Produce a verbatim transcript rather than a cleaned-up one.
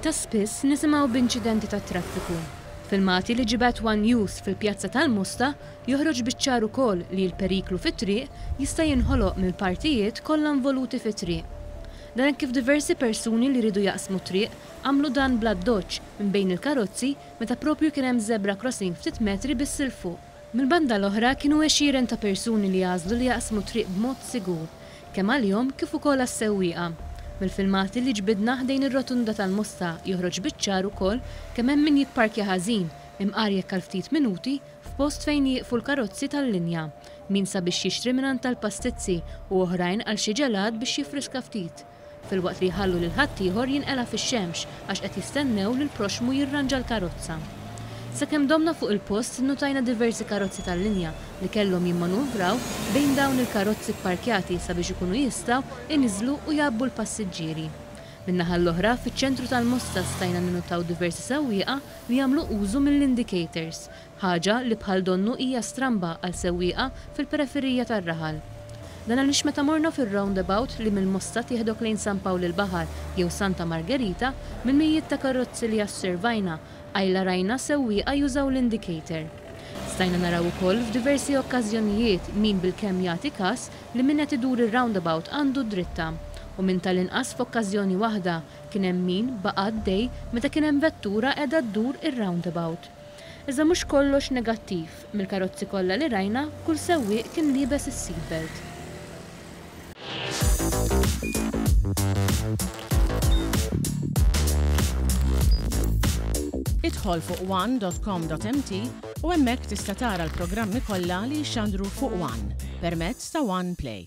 Ta' spiss nisimgħu b'inċidenti tat-traffiku. Filmati li ġibed One News fil-pjazza tal-Mosta joħroġ biċ-ċar ukoll li l-periklu fit-triq jista' jinħoloq mill-partijiet kollha involuti fit-triq. Dan kif diversi persuni li ridu jaqsmu triq għamlu dan bl-addoċċ minn bejn il-karozzi meta propju kien hemm zebra crossing ftit metri biss 'il fuq. Mill-banda l-oħra kienu għexieren ta' persuni li għażlu li jaqsmu triq b'mod sigur, kemm għalihom kif ukoll għas-sewwieqa. Mill-filmati li ġbidna ħdejn ir-rotunda tal-Mosta joħroġ biċ-ċar ukoll kemm hemm min jipparkja ħażin, imqar jekk għal ftit minuti, f'post fejn jieqfu l-karozzi tal-linja, min sabiex jixtri mingħand tal-pastizzi u oħrajn għal xi ġelat biex jiffriska ftit, filwaqt li jħallu lil ħaddieħor jinqela fix-xemx għax qed jistennew lil proxmu jirranġa l-karozza. Sakemm domna fuq il-post innutajna diversi karozzi tal-linja li kellhom jimmanuvraw bejn dawn il-karozzi pparkjati sabiex ikunu jistgħu iniżlu u jgħabbu l-passiġġieri. Min-naħa l-oħra, fiċ-ċentru tal-Mosta stajna ninnutaw diversi sewwieqa li jagħmlu użu mill-indicators, ħaġa li bħal donnu hija stramba għal sewwieqa fil-periferija tar-raħal. Dan għaliex meta morna fir-roundabout li mill-Mosta tieħdok lejn San Pawl il-Baħar jew Santa Margherita, minn mijiet ta' karozzi li osservajna, qajla rajna sewwieqa jużaw l-indicator. Stajna naraw ukoll f'diversi okkażjonijiet min bilkemm jagħti kas li min qed idur ir-roundabout għandu dritta, u minn tal-inqas f'okkażjoni waħda kien hemm min baqa' għaddej meta kien hemm vettura qiegħda ddur ir-roundabout. Iżda mhux kollox negattiv, mill-karozzi kollha li rajna kull sewwieq kien liebes is-seatbelt. Idħol fuq one dot com dot m t u hemmhekk tista' tara l-programmi kollha li jixxandru fuq One permezz ta' One Play.